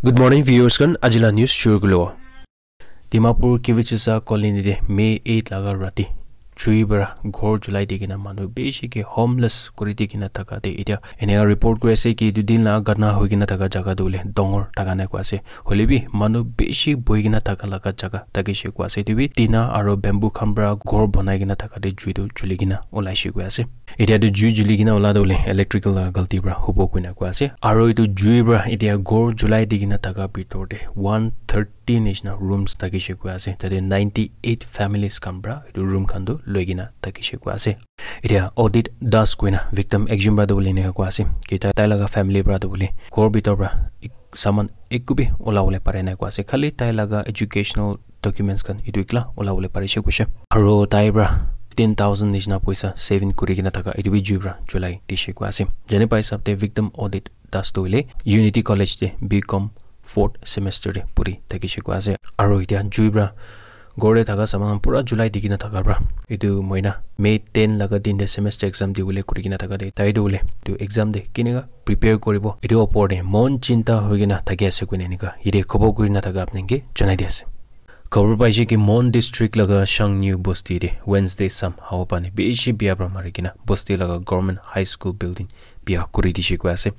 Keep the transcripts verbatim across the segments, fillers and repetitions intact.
Good morning, viewers khan. Ajila news shuru kulo. Dimapur Kivichisa colony de May eight laga rati chui bara ghor julai di kena manu bishi ke homeless kuri di kena thaka de itia enia report kuri ase ki etu din la ghotna hoi kena thaka jaga tu le dangor thaka nai koi ase. Hoile bi manu bishi bohi kena thaka laga jaga thakishe koi ase. Etu bi tina aro bamboo khan para ghor banai kena thaka de jui tu juli kena ulaishe koi ase. Etia tu jui juli kena ula tu le electrical laga galti para hobo koi na koi ase. Aro etu jui para etia ghor julai di kena thaka bitor de one thirty nishina rooms thakishe koi ase. Tate ninety eight families khan para etu room khan tu loi kena thakishe koi ase. Etia Odit Das koi na victim ekjon para tu bole enia koi ase ki tai, tai laga family para tu bole ghor bitor para ek-, saman ekku bi ula bole pare nai koi ase. Khali tai laga educational documents khan etu ekla ula bole parishe koishe. Aro tai para ten thousand nishina poisa saving kuri kena thaka etu bi jui para julai dishe koi ase. Jane pai hisab te victim Odit Das tu hoile Unity College te B Com fourth semester te puri thakishe koi ase. Aro etia jui para ghor te thaka saman pura julai di kena thaka para etu moina May ten laga din te semester exam di bole kuri kena thaka de tai tu bole etu exam de keneka prepare kuribo etu opor de mon chinta hoi kena thaki ase koina enika yate khobor kuri na thaka apni ke janai di ase. Khobor paishe ki Mon district laga Shangniu bosti de Wednesday sam hawa pani bishi bia para mari kena bosti laga government high school building bia kuri dishe koi ase.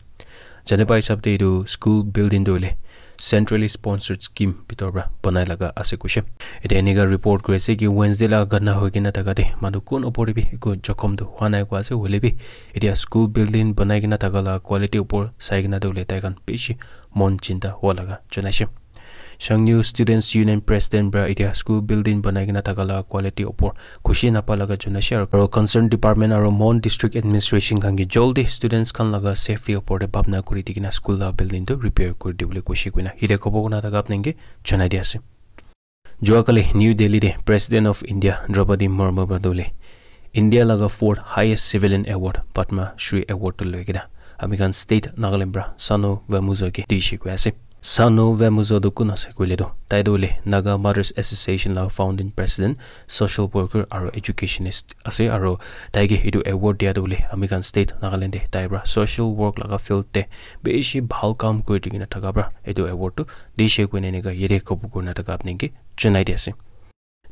Jane pai hisab te etu school building tu hoile centrally sponsored scheme bitor para banai laga ase koishe. Etia enika report kuri ase ki Wednesday laga ghotna hoi kena thaka de manu kun opor de bi eku jokhom tu hwa nai koi ase. Hoile bi etia school building banai kena thaka laga quality opor sai kena tu hoile tai khan bishi mon chinta hwa laga janaishe. Shangniu Students Union President para etia school building banai kena thaka laga quality opor khushi napa laga janaishe aro, aro concerned department aro Mon District Administration khan ke jaldi students khan laga safety opor te bhabna kuri di kena school laga building tu repair kuri di bole koishe koina yate khobor kuri na thaka apni ke janai di ase. Jua kali New Delhi te President of India Draupadi Murmu para tu le India laga fourth highest civilian award Padma Shri Award tu loi kena ami khan state Nagaland para Sano Vemuzo ke dishe koi ase. Sano Vemuzo tu kun ase koile tu tai tu hoile Naga Mothers Association laga founding president, social worker aro educationist ase aro tai ke etu award dia tu hoile ami khan state Nagaland de tai para social work laga field te bishi bhal kam kuri di kena thaka para etu award tu dishe koina enika yate khobor kuri na thaka apni ke janai di ase.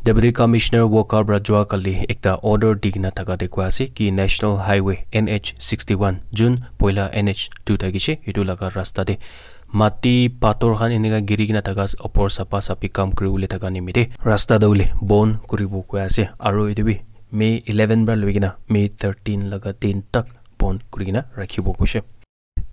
Deputy Commissioner Wokha para jua kali ekta order di kena thaka de koi ase ki National Highway N H sixty one jun poila N H two thakishe etu laga rasta de mati pathor khan enika giri kena thaka opor sapa sapi kam kuri bole thaka nimite rasta tu hoile bon kuri bo koi ase aro etu bi May eleven para loi kena May thirteen laga din tak bon kuri kena rakhi bo koishe.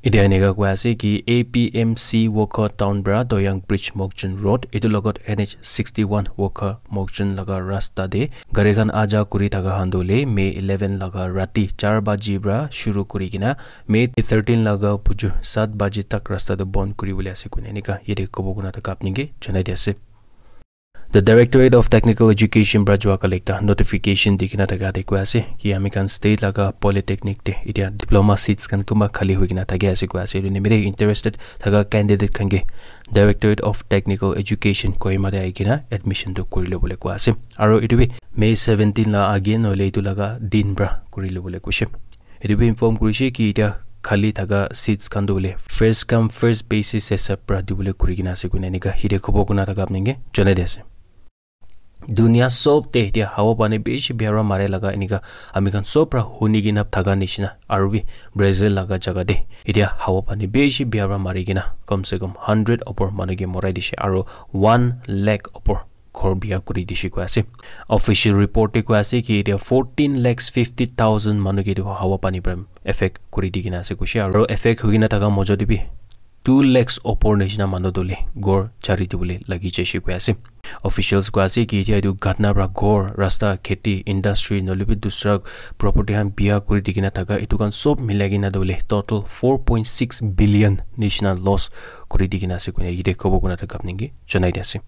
Etia enika koi ase ki A P M C Wokha town para Doyang Bridge Mokjun Road etu logot N H sixty one Wokha Mokjun laga rasta de gari khan aja kuri thaka khan tu hoile May eleven laga rati char baji para shuru kuri kena May thirteen laga buju sat baji tak rasta tu bon kuri bole ase koina enika yate khobor kuri na thaka apni ke janai di ase. The Directorate of Technical Education para jua kali ekta notification di kena thaka de koi ase ki ami khan state laga polytechnic de etia diploma seats khan kunba khali hoi kena thaki ase koi ase. Etu nimite interested thaka candidate khan ke Directorate of Technical Education Kohima de ahi kena admission tu kuri lo bole koi ase. Aro etu bi May seventeen la age nohole etu laga din para kuri lo bole koishe. Etu bi inform kurishe ki etia khali thaka seats khan tu hoile first come first basis hisab para dibole kuri kena ase koina enika yate khobor kuri na thaka apni ke janai di ase. Dunia sob te etia hawa pani bishi bia para mare laga enika ami khan sob para huni kena thaka nishina aro bi Brazil laga jaga de etia hawa pani bishi bia para mari kena kam se kam hundred opor manu ke morai dishe aro one lakh opor ghor bia kuri dishe koi ase. Official report te koi ase ki etia fourteen lakhs fifty thousand manu ke etu hawa pani para effect kuri di kena ase koishe aro effect hoi kena thaka mojo te bi two lakhs opor nishina manu tu hoile ghor chari di bole lagi jaishe koi ase. Officials koi ase ki etia etu ghatna para ghor, rasta, kheti, industry nohole bi dusra property khan bia kuri di kena thaka etu khan sob milai kena tu hoile total four point six billion nishina loss kuri di kena ase koina yate khobor kuri na thaka apni ke janai di ase.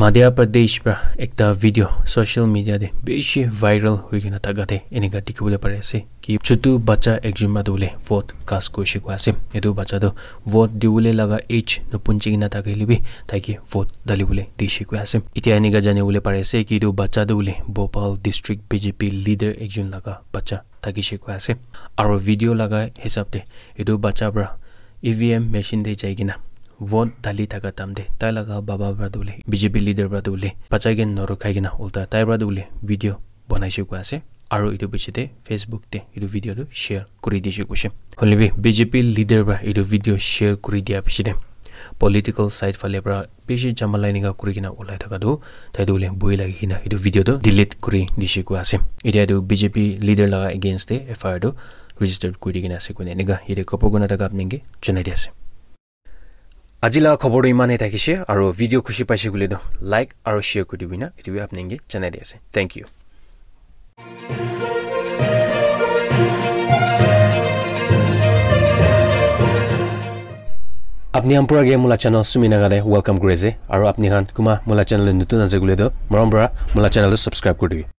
Madhya Pradesh para ekta video social media te bishi viral hoi kena thaka te enika dikhi bole pari ase ki chutu bacha ekjon para tu hoile vote cast kurishe koi ase. Etu bacha tu vote di bole laga age napunchi kena thakile bi tai ke vote dali bole dishe koi ase. Etia enika jani bole pari ase ki etu bacha tu hoile Bhopal district B J P leader ekjon laga bacha thakishe koi ase. Aro video laga hisab te etu bacha para E V M machine te jai kena vote dali thaka time te tai laga baba para tu hoile, B J P leader para tu hoile, bachai ke norokhai kena ulta tai para tu hoile video banaise koi ase. Aru etu piche te Facebook te etu video tu share kuri dise koise. Hoile bi B J P leader para etu video share kuri dia piche te political side phale para bishi jamala enika kuri kena ulai thaka tu tai tu hoile boi lagi kena etu video tu delete kuri dise koi ase. Etia tu B J P leader laga against te F I R tu register kuri kena ase koina enika yate khobor kurina thaka apni ke janai di ase. Aji laga khobor tu iman he thakise, aru video khushi paise koile tu like aru share kuri dibi na, etu bi apni ke janai di ase. Thank you. Apni khan pura ke mula channel Sumi Naga te welcome kuri ase, aru apni khan kuma mula channel te nutun ase koile tu morom para mula channel tu subscribe kuri dibi.